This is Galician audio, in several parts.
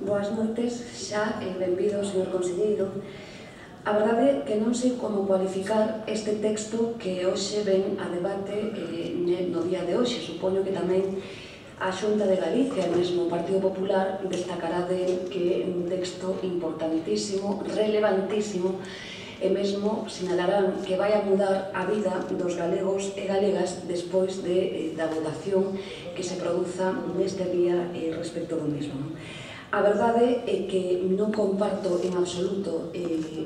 Boas noites, xa benvido, señor conselleiro. A verdade é que non sei como cualificar este texto que hoxe ven a debate no día de hoxe. Supoño que tamén a Xunta de Galicia, e mesmo o Partido Popular, destacará de que é un texto importantísimo, relevantísimo, e mesmo sinalarán que vai a mudar a vida dos galegos e galegas despois da votación que se produza neste día respecto do mesmo. A verdade é que non comparto en absoluto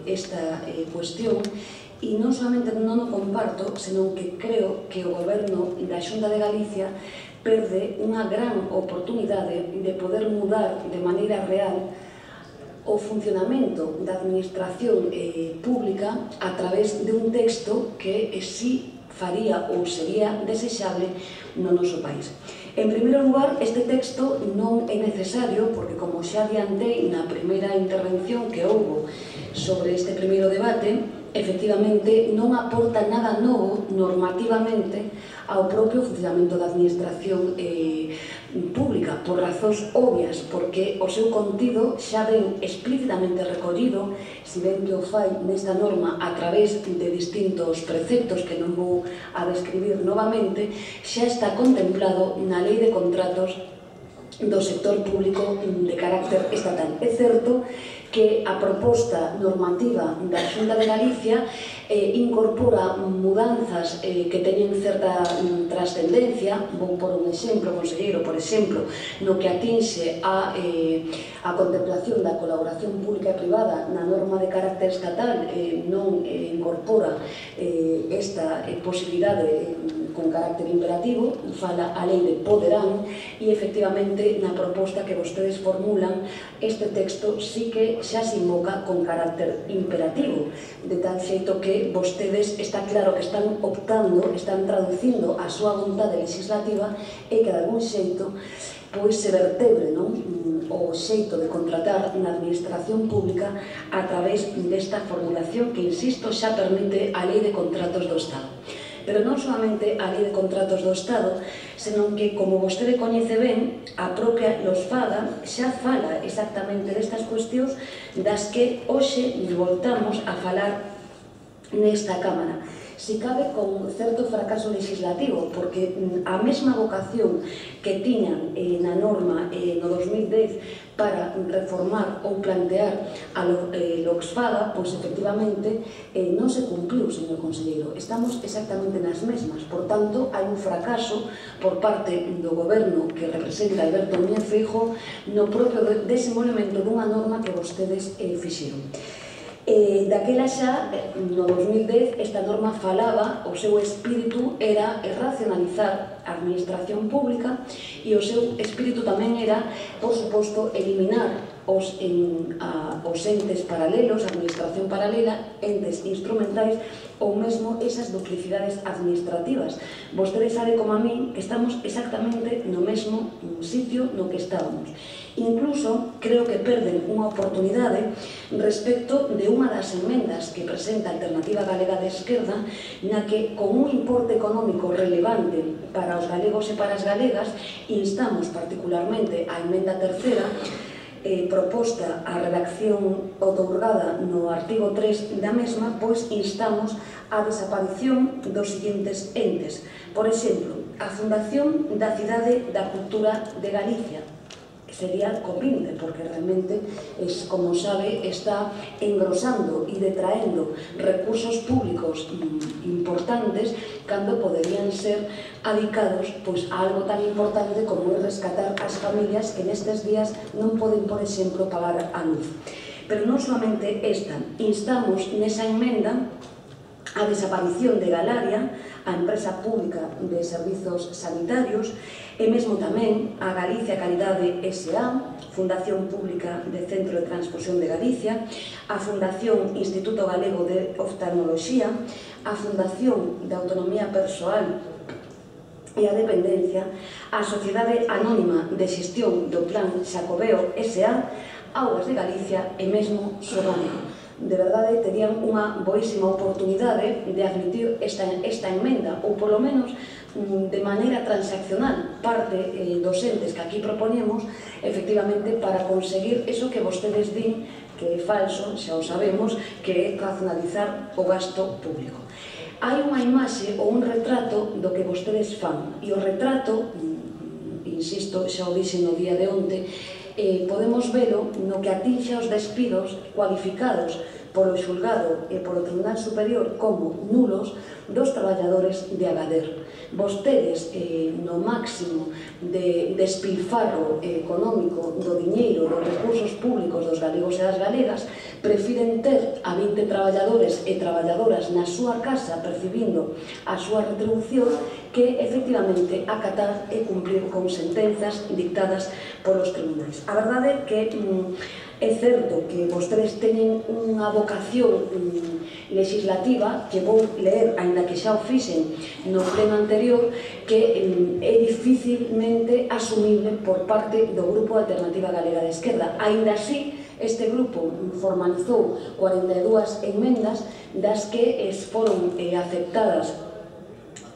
esta cuestión, e non solamente non o comparto, senón que creo que o Goberno da Xunta de Galicia perde unha gran oportunidade de poder mudar de maneira real o funcionamento da administración pública a través de un texto que si faría ou sería desexable no noso país. En primeiro lugar, este texto non é necesario porque, como xa adiantei na primeira intervención que houbo sobre este primeiro debate, efectivamente non aporta nada novo normativamente ao propio funcionamento da administración pública, por razóns obvias, porque o seu contido xa ven explícitamente recollido, se ben que o fai nesta norma a través de distintos preceptos que non vou a describir novamente, xa está contemplado na Lei de Contratos do sector público de carácter estatal. É certo que a proposta normativa da Xunta de Galicia incorpora mudanzas que teñen certa trascendencia. Vou por un exemplo, conselleiro, por exemplo, no que atinxe a contemplación da colaboración pública e privada na norma de carácter estatal, non incorpora esta posibilidade con carácter imperativo, fala a lei de poderán, e efectivamente na proposta que vostedes formulan este texto sí que xa se invoca con carácter imperativo, de tal xeito que vostedes está claro que están optando, están traducindo a súa vontade legislativa e que de algún xeito se vertebre o xeito de contratar na administración pública a través desta formulación que, insisto, xa permite a Lei de Contratos do Estado. Pero non solamente a Lei de Contratos do Estado, senón que, como vostede coñece ben, a propia LOSFADA xa fala exactamente destas cuestións das que hoxe voltamos a falar nesta Cámara. Si cabe con certo fracaso legislativo, porque a mesma vocación que tiñan na norma no 2010 para reformar ou plantear a LOSFADA, pois efectivamente non se cumpliu, señor conselleiro. Estamos exactamente nas mesmas. Por tanto, hai un fracaso por parte do Goberno que representa Alberto Núñez Feijóo no propio desenvolvemento dunha norma que vostedes fixeron. Daquela xa, no 2010, esta norma falaba, o seu espírito era racionalizar a administración pública e o seu espírito tamén era, por suposto, eliminar os entes paralelos, a administración paralela, entes instrumentais ou mesmo esas duplicidades administrativas. Vostede sabe como a min que estamos exactamente no mesmo sitio no que estábamos. Incluso creo que perden unha oportunidade respecto de unha das enmendas que presenta a Alternativa Galega de Esquerda, na que, con un importe económico relevante para os galegos e para as galegas, instamos particularmente a emenda terceira, proposta a redacción outorgada no artigo 3 da mesma, pois instamos a desaparición dos seguintes entes. Por exemplo, a Fundación da Cidade da Cultura de Galicia, sería Copinte, porque realmente, como sabe, está engrosando e detraendo recursos públicos importantes cando poderían ser adicados a algo tan importante como é rescatar as familias que nestes días non poden, por exemplo, pagar a luz. Pero non solamente esta, instamos nesa emenda a desaparición de Galaria, a empresa pública de servizos sanitarios, e mesmo tamén a Galicia Calidade S.A., Fundación Pública de Centro de Transfusión de Galicia, a Fundación Instituto Galego de Oftalmoloxía, a Fundación de Autonomía Persoal e a Dependencia, a Sociedade Anónima de Xestión do Plan Xacobeo S.A., Augas de Galicia e mesmo Sorrano. De verdade, terían unha boísima oportunidade de admitir esta emenda, ou polo menos de maneira transaccional parte dos entes que aquí proponemos, efectivamente, para conseguir eso que vostedes din que é falso, xa o sabemos, que é racionalizar o gasto público. Hai unha imaxe ou un retrato do que vostedes fan, e o retrato, insisto, xa o dixen no día de onte, podemos velo no que atinxe aos despidos cualificados polo xulgado e polo Tribunal Superior como nulos dos traballadores de Agadir. Vostedes, no máximo de despilfarro económico do diñeiro, dos recursos públicos dos galegos e das galegas, prefiren ter a 20 traballadores e traballadoras na súa casa percibindo a súa retribución que, efectivamente, acatar e cumprir con sentenzas dictadas polos tribunais. A verdade é que é certo que vostedes teñen unha vocación legislativa que vou ler, aínda que xa o fixen no pleno anterior, que é dificilmente asumible por parte do Grupo Alternativa Galega de Esquerda. Aínda así, este grupo formalizou 42 enmendas, das que foron aceptadas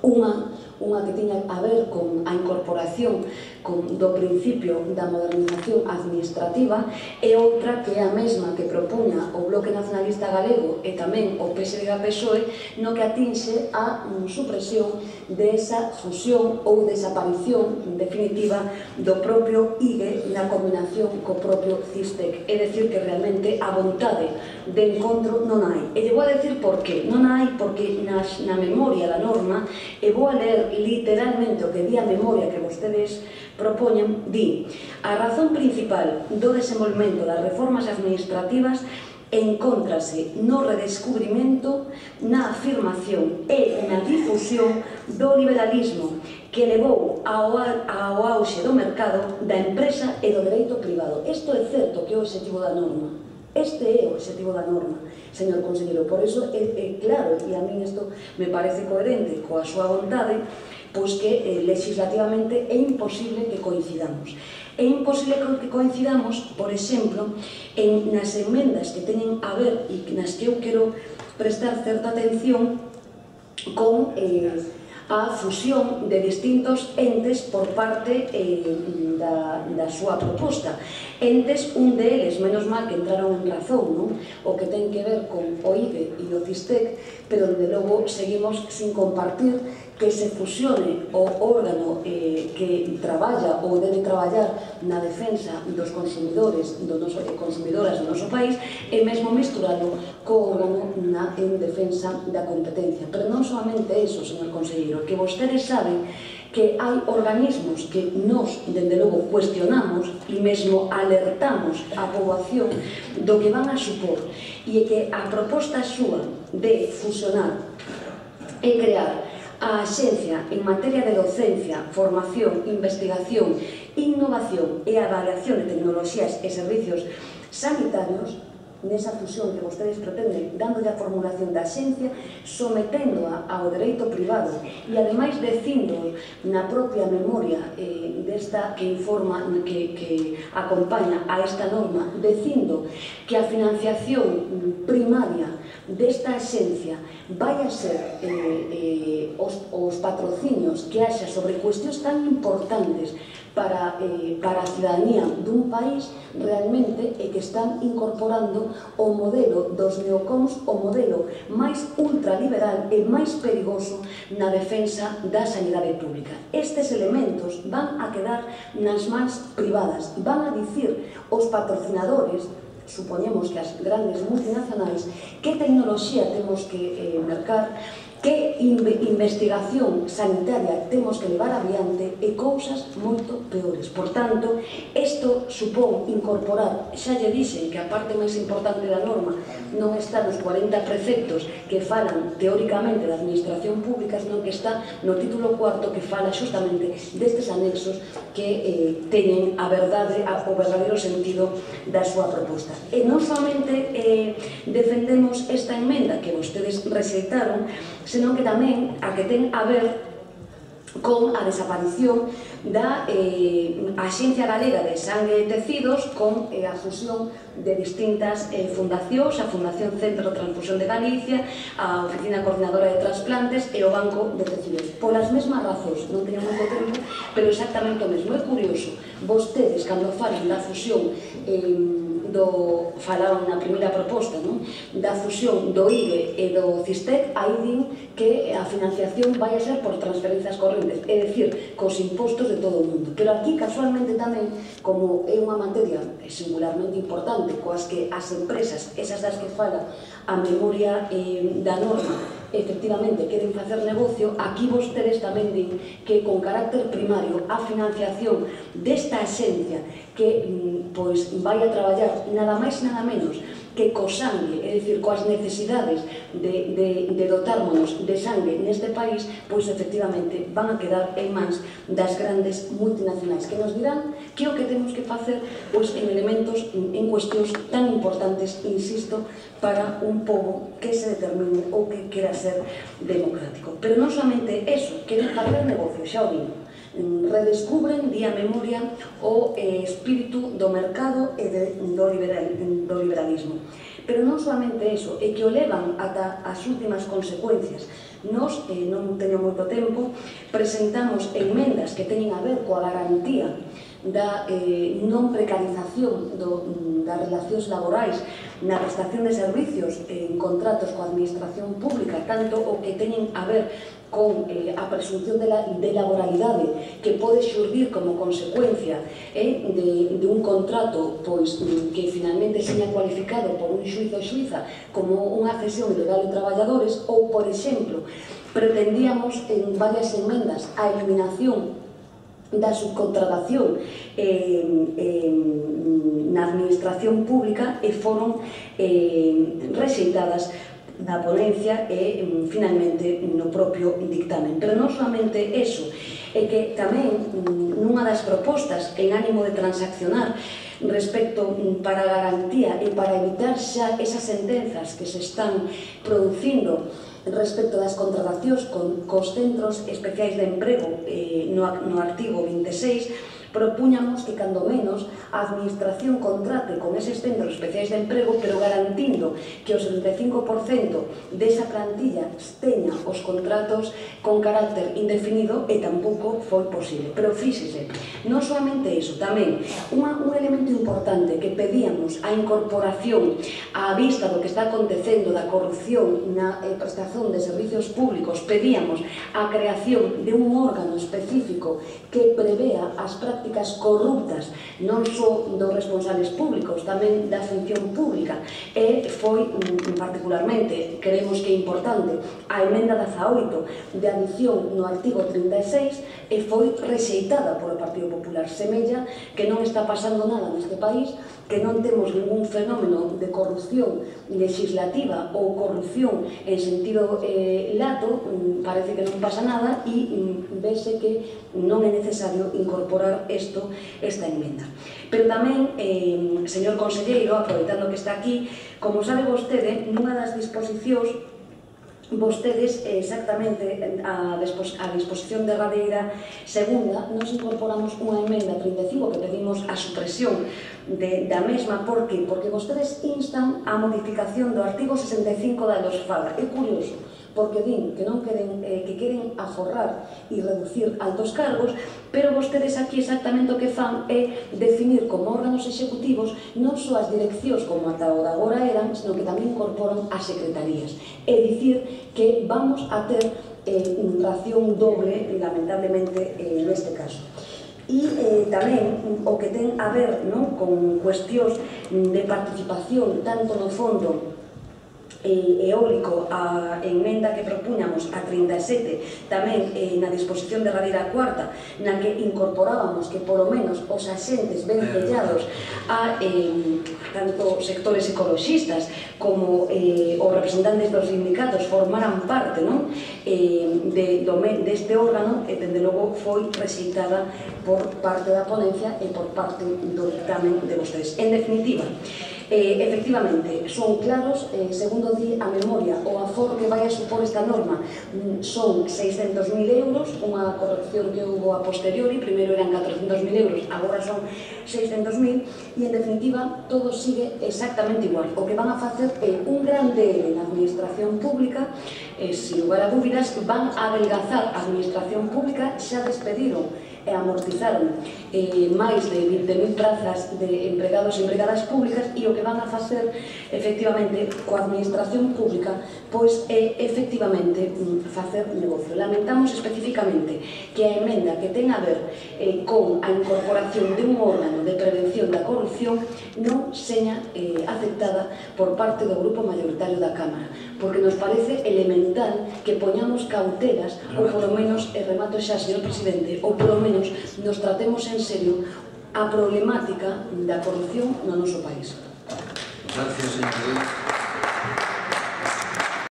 unha que tiña a ver con a incorporación do principio da modernización administrativa e outra que é a mesma que propuña o Bloque Nacionalista Galego e tamén o PSDG-PSOE, no que atinxe a supresión desa fusión ou desaparición definitiva do propio IGE na combinación co propio CISTEC. É dicir, que realmente a vontade de encontro non hai. E lle vou a decir por qué. Non hai porque na memoria da norma, e vou a ler literalmente o que di a memoria que vostedes propoñen, di: a razón principal do desenvolvemento das reformas administrativas encóntrase no redescubrimento, na afirmación e na difusión do liberalismo que levou ao auxe do mercado, da empresa e do dereito privado. Isto é certo que é o objetivo da norma. Este é o objetivo da norma, señor conselleiro. Por iso é claro, e a min isto me parece coherente coa súa vontade, pois que legislativamente é imposible que coincidamos. É imposible que coincidamos, por exemplo, nas enmendas que teñen a ver e nas que eu quero prestar certa atención con a fusión de distintos entes por parte da súa proposta. Entes, un deles, menos mal que entraron en razón, non? O que ten que ver con o IBE e o CISTEC, pero de logo seguimos sin compartir que se fusione o órgano que traballa ou debe traballar na defensa dos consumidores e consumidoras do noso país e mesmo mesturado co órgano en defensa da competencia. Pero non solamente iso, señor conselleiro, que vostedes saben que hai organismos que nos, dende logo, cuestionamos e mesmo alertamos a poboación do que van a supor, e que a proposta súa de fusionar e crear a Axencia en materia de docencia, formación, investigación, innovación e avaliación de tecnoloxías e servicios sanitarios, nesa fusión que vostedes pretenden, dándolle a formulación da Axencia, someténdoa ao dereito privado e, ademais, dicindo na propia memoria desta que informa, que acompaña a esta norma, dicindo que a financiación primaria desta Axencia vai a ser os patrocinios que haxa sobre cuestións tan importantes para a cidadanía dun país realmente e que están incorporando o modelo dos neocons, o modelo máis ultraliberal e máis perigoso na defensa da sanidade pública. Estes elementos van a quedar nas mans privadas, van a dicir os patrocinadores, supoñemos que as grandes multinacionais, que tecnoloxía temos que mercar, que investigación sanitaria temos que levar adiante e cousas moito peores. Por tanto, isto supón incorporar, xa lle dixen que a parte máis importante da norma non está nos 40 preceptos que falan teóricamente da administración pública, senón que está no título cuarto que fala xustamente destes anexos que teñen a verdade, o verdadeiro sentido da súa proposta. E non somente defendemos esta enmenda que vostedes rexeitaron, senón que tamén a que ten a ver con a desaparición da Axencia Galega de Sangue e Tecidos con a fusión de distintas fundacións, a Fundación Centro de Transfusión de Galicia, a Oficina Coordinadora de Transplantes e o Banco de Tecidos. Polas mesmas razóns, non teño moito tempo, pero exactamente o mesmo. É curioso, vostedes, cando falan da fusión falaban na primeira proposta, da fusión do IBE e do CISTEC, aí din que a financiación vai a ser por transferencias correntes, é dicir, cos impostos de todo o mundo. Pero aquí, casualmente tamén, como é unha materia singularmente importante, coas que as empresas, esas das que fala a memoria da norma, efectivamente queren facer negocio, aquí vostedes tamén din que con carácter primario a financiación desta axencia que vai a traballar nada máis nada menos que co sangue, é dicir, coas necesidades de dotármonos de sangue neste país, pois efectivamente van a quedar en mans das grandes multinacionais que nos dirán que o que temos que facer pois en elementos, en cuestións tan importantes, insisto, para un pobo que se determine ou que quera ser democrático. Pero non somente eso, queren facer negocio, xa o digo, redescubren, día memoria, o espírito do mercado e do liberalismo. Pero non somente eso, é que o levan ata as últimas consecuencias. Nos, non teño moito tempo, presentamos enmendas que teñen a ver coa garantía da non precarización das relacións laborais na prestación de servicios en contratos coa administración pública, tanto o que teñen a ver con a presunción de laboralidade que pode xurdir como consecuencia de un contrato que finalmente seña cualificado por un xuizo ou xuiza como unha cesión ilegal de traballadores, ou, por exemplo, pretendíamos en varias enmendas a eliminación da subcontratación na administración pública e foron rexeitadas na ponencia e finalmente no propio dictamen. Pero non somente eso, é que tamén nunha das propostas en ánimo de transaccionar respecto para a garantía e para evitar xa esas sentenzas que se están producindo respecto das contratacións cos centros especiais de emprego no artigo 26, propuñamos que, cando menos, a administración contrate con eses centros especiais de emprego, pero garantindo que o 75% desa plantilla teña os contratos con carácter indefinido, e tampouco foi posible. Pero fíxese, non solamente iso, tamén un elemento importante que pedíamos a incorporación á vista do que está acontecendo da corrupción na prestación de servicios públicos, pedíamos a creación de un órgano específico que prevea as prácticas corruptas non só dos responsables públicos, tamén da función pública, e foi particularmente, creemos que é importante, a emenda 18 de adición no artigo 36 e foi rexeitada polo Partido Popular. Semella que non está pasando nada neste país, que non temos ningún fenómeno de corrupción legislativa ou corrupción en sentido lato, parece que non pasa nada, e vese que non é necesario incorporar esta enmenda. Pero tamén, señor conselleiro, aproveitando que está aquí, como sabe vostede, nunha das disposicións, vostedes, exactamente a disposición derradeira segunda, nos incorporamos unha emenda 35 que pedimos a supresión da mesma. Por que? Porque vostedes instan a modificación do artigo 65 da LOSFAGA. É curioso, porque din que non queren aforrar e reducir altos cargos, pero vostedes aquí exactamente o que fan é definir como órganos executivos non só as direccións como ata o de agora eran, sino que tamén incorporan as secretarías. É dicir que vamos a ter ración doble, lamentablemente, neste caso. E tamén o que ten a ver con cuestións de participación tanto no fondo eólico, a enmenda que propuñamos a 37, tamén na disposición derradeira cuarta, na que incorporábamos que polo menos os axentes vencellados a tanto sectores ecologistas como os representantes dos sindicatos formaran parte deste órgano, e dende logo foi rexeitada por parte da ponencia e por parte do dictamen de vostedes. En definitiva, Efectivamente, son claros, segundo di a memoria, o aforro que vai a supor esta norma son 600.000 euros, unha corrección que houve a posteriori, primeiro eran 400.000 euros, agora son 600.000, e en definitiva todo sigue exactamente igual. O que van a facer é un gran DL na administración pública, sin lugar a dúbidas, van a adelgazar a administración pública, xa despediron e amortizaron máis de 20.000 prazas de empregados e empregadas públicas, e o que van a facer efectivamente coa administración pública pois é efectivamente facer negocio. Lamentamos especificamente que a emenda que ten a ver con a incorporación de un órgano de prevención da corrupción non seña aceptada por parte do grupo mayoritario da Cámara, porque nos parece elemental que poñamos cautelas, ou polo menos, remato xa, señor presidente, ou polo menos nos tratemos en serio a problemática da corrupción no noso país. Gracias, señor.